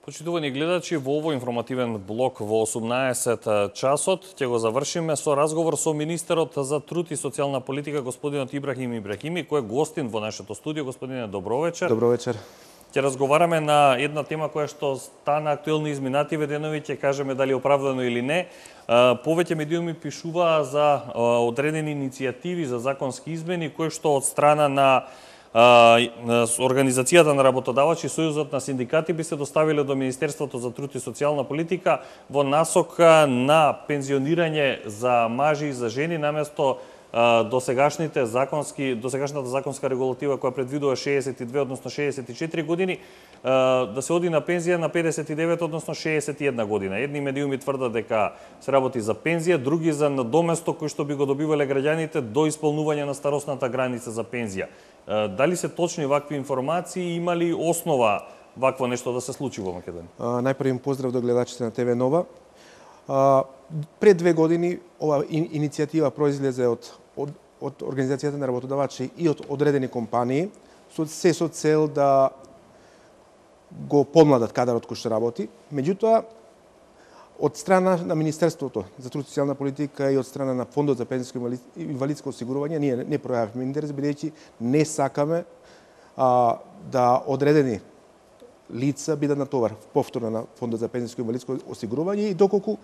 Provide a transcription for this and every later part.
Почитувани гледачи, во овој информативен блок во 18 часот ќе го завршиме со разговор со министерот за труд и социјална политика господинот Ибрахим Ибрахими, кој е гостин во нашето студио. Господине, добро вечер. Добро вечер. Ќе разговараме на една тема која што стана актуелна изминативе денови, ќе кажеме дали е оправдано или не. Повеќе медиуми пишуваа за одредени иницијативи за законски измени кои што од страна на Организацијата на работодавачи и Сојузот на синдикати би се доставиле до Министерството за труд и социјална политика во насока на пензионирање за мажи и за жени наместо досегашната законска регулатива која предвидува 62 односно 64 години да се оди на пензија на 59 односно 61 година. Едни медиуми тврдат дека се работи за пензија, други за надоместок кој што би го добивале граѓаните до исполнување на старосната граница за пензија. Дали се точни вакви информации и има ли основа вакво нешто да се случи во Македонија? Најпрво им поздрав до гледачите на ТВ Нова. Пред 2 години ова иницијатива произлезе од Организацијата на работодавачи и од одредени компании со цел да го помладат кадарот кој што работи. Меѓутоа, од страна на Министерството за труд и социјална политика и од страна на Фондот за пензијско и инвалидско осигурување ние не пројавивме интерес, бидејќи не сакаме да одредени лица бидат натовар повторно на Фондот за пензијско и инвалидско осигурување и доколку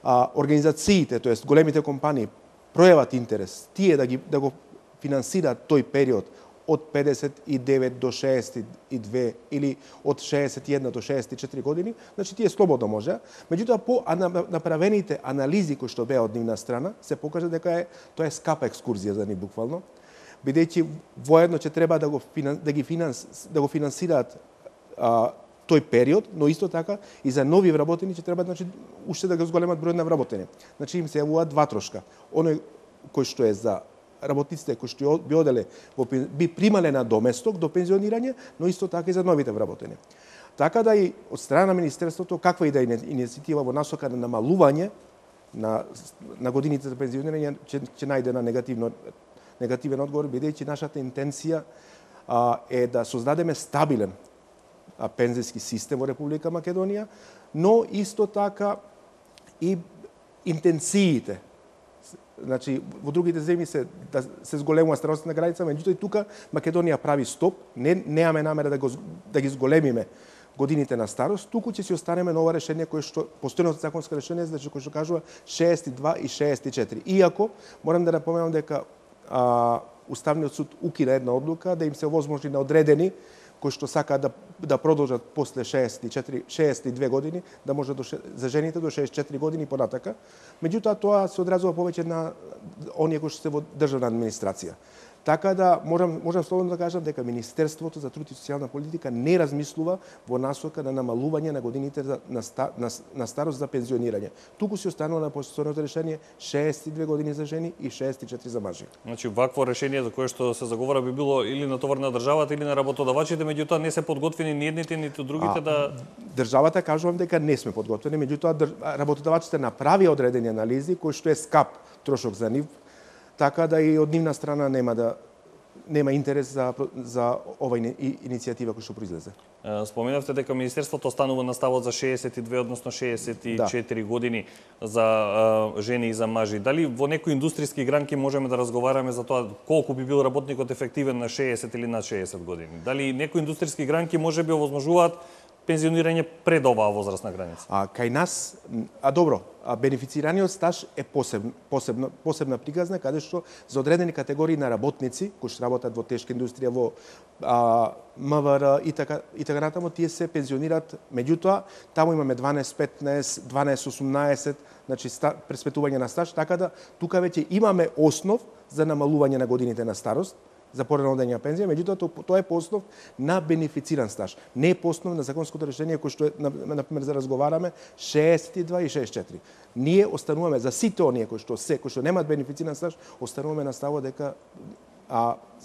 организациите, тоест големите компании пројават интерес тие да го финансираат тој период од 59 до 62 или од 61 до 64 години, значи тие слободно може. Меѓутоа, по направените анализи кои што беа од нивна страна, се покажа дека тоа е скапа екскурзија за нив буквално, бидејќи воедно ќе треба да го финансираат тој период, но исто така и за нови вработени ќе треба уште да го зголемат бројот на вработени. Значи им се јавуваат два трошка. Оној кој што е за работниците кои што би примале на доместок до пензионирање, но исто така и за новите вработени. Така да и од страна на Министерството, каква и да е иницијатива во насока на намалување на годините за пензионирање, ќе најде на негативен одговор, бидејќи нашата интенција е да создадеме стабилен пензијски систем во Република Македонија, но исто така и интенциите. Значи, во другите земји се зголемува старосна граница, меѓутоа и тука Македонија прави стоп, немаме намера да ги зголемиме годините на старост, туку ќе си останеме на ова решение кое што постојното законско решение, значи кој што кажува 62 и 64. Иако морам да напоменам дека Уставниот суд укина една одлука да им се овозможи на одредени кои што сакаат да продолжат после 62 години, да може за жените до 64 години понатака. Меѓутоа, тоа се одразува повеќе на оние кои што се во државна администрација. Така да, можам слободно да кажам дека Министерството за труд и социјална политика не размислува во насока на намалување на годините на старост за пензионирање. Туку се останува на постојното решение 62 години за жени и 64 за мажи. Значи, вакво решение за кое што се заговора би било или на товар на државата или на работодавачите, меѓутоа не се подготвени ни едните ниту другите да... Државата кажувам дека не сме подготвени, меѓутоа работодавачите направија одредени анализи кои што е скап трошок за нив, така да и од нивна страна нема интерес за ова иницијатива која што произлезе. Споменавте дека Министерството останува на ставот за 62, односно 64 години за жени и за мажи. Дали во некои индустријски гранки можеме да разговараме за тоа колку би бил работникот ефективен на 60 или над 60 години? Дали некои индустријски гранки можеби овозможуваат пензионирање пред оваа возрастна граница? Кај нас, добро, бенефицираниот стаж е посебна приказна, каде што за одредени категории на работници, кои што работат во тешка индустрија, во МВР и така натаму, тие се пензионираат. Меѓутоа, таму имаме 12-15, 12-18, значи преспетување на стаж, така да тука веќе имаме основ за намалување на годините на старост, за порано одење на пензија, меѓутоа тоа е по основ на бенефициран стаж. Не е по основ на законското решение кој што е, например, за разговараме 62 и 64. Ние остануваме за сите оние кои што немаат бенефициран стаж, остануваме на ставот дека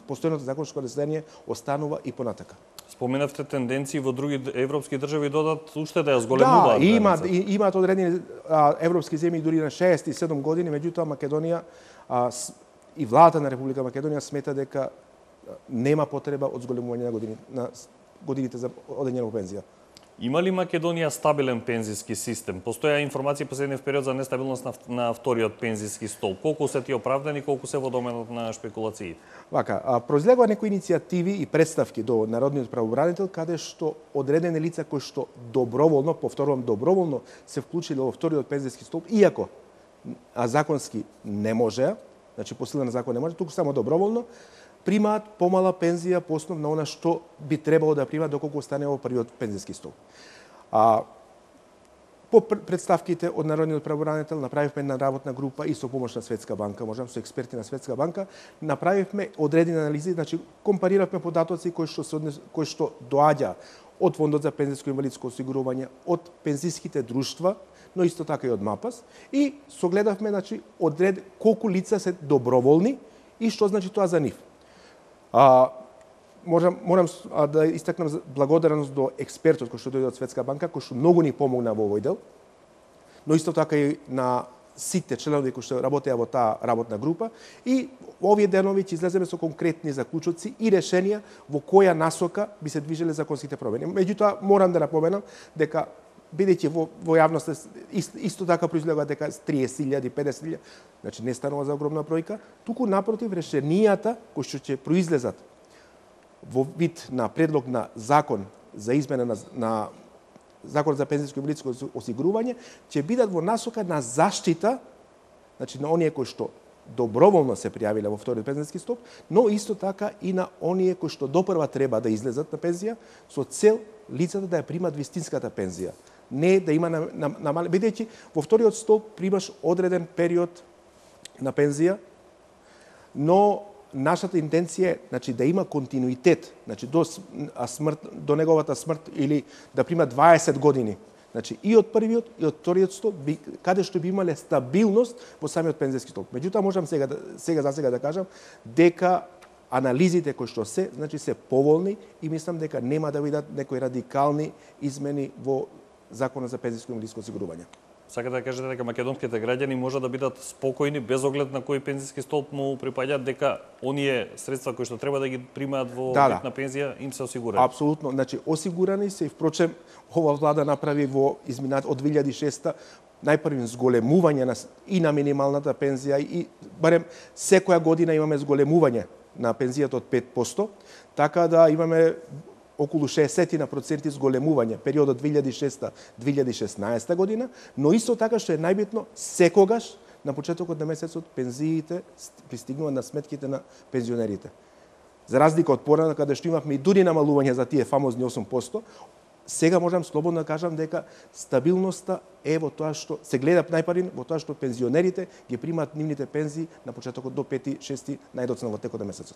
постојното законско решение останува и понатака. Споменавте тенденции во други европски држави додат уште да ја зголемуваат. Да, имаат одредени европски земји дури на 67 години, меѓутоа Македонија и владата на Република Македонија смета дека нема потреба од зголемување на годините за одење во пензија. Има ли Македонија стабилен пензиски систем? Постоја информации последниот период за нестабилност на вториот пензиски столб. Колку се тие оправдани, колку се во доменот на шпекулациите? Вака, произлегува некои иницијативи и представки до Народниот правобранител каде што одредени лица кои што доброволно, повторувам доброволно, се вклучиле во вториот пензиски столб, иако законски не можеа, значи по сила на закон не може, туку само доброволно, примаат помала пензија по основ на она што би требало да примаат доколку остане во првиот пензиски столб. По представките од Народниот правобранител направивме една работна група и со помош на Светска банка, можам со експерти на Светска банка, направивме одредени анализи, значи компариравме податоци кои што доаѓа од Фондот за пензиско и инвалидско осигурување, од пензиските друштва, но исто така и од МАПАС, и согледавме значи колку лица се доброволни и што значи тоа за нив. Морам да истакнам благодарност до експертот кој што дојде од Светска банка, кој што многу ни помогна во овој дел, но исто така и на сите членови кои што работеа во таа работна група, и овие денови ќе излеземе со конкретни заклучоци и решенија во која насока би се движеле законските промени. Меѓутоа, морам да напоменам дека бидејќи во јавноста исто така произлегува дека 30.000, 50.000, значи не станува за огромна бројка, туку напротив решенијата кои што ќе произлезат во вид на предлог на закон за измена на Закон за пензиско и инвалидско осигурување ќе бидат во насока на заштита, значи на оние кои што доброволно се пријавиле во вториот пензиски столб, но исто така и на оние кои што допрва треба да излезат на пензија со цел лицата да ја примат вистинската пензија. Не да има намале, бидејќи во вториот столб примаш одреден период на пензија, но нашата интенција е значи да има континуитет, значи до неговата смрт или да прима 20 години. Значи и од првиот и од вториот столб каде што би имале стабилност во самиот пензиски столб. Меѓутоа можам сега да кажам дека анализите кои што значи се поволни и мислам дека нема да бидат некои радикални измени во Законот за пензиско и инвалидско осигурување. Сакате да кажете дека македонските граѓани може да бидат спокојни без оглед на кој пензиски столб му припаѓаат, дека оние средства кои што треба да ги примаат во вид на пензија им се осигурани? Апсолутно, значи осигурани се и впрочем ова влада направи во изминат од 2006 најпрвим зголемување и на минималната пензија и барем секоја година имаме зголемување на пензијата од 5%, така да имаме околу 60% зголемување периодот 2006-2016 година, но исто така што е најбитно, секогаш на почетокот на месецот пензиите пристигнуваат на сметките на пензионерите. За разлика од порано каде што имавме и дури намалување за тие фамозни 8%, сега можам слободно да кажам дека стабилноста е во тоа што се гледа најпарин во тоа што пензионерите ги примаат нивните пензии на почетокот до 5-6 најдоцна во текот на месецот.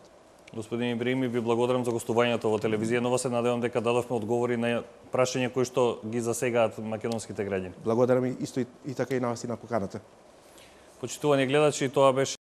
Господин Ибрахими, ви благодарам за гостувањето во телевизија Нова. Се надевам дека дадовме одговори на прашања кои што ги засегаат македонските граѓани. Благодарам исто и така и на вас и на поканата. Почитувани гледачи, тоа беше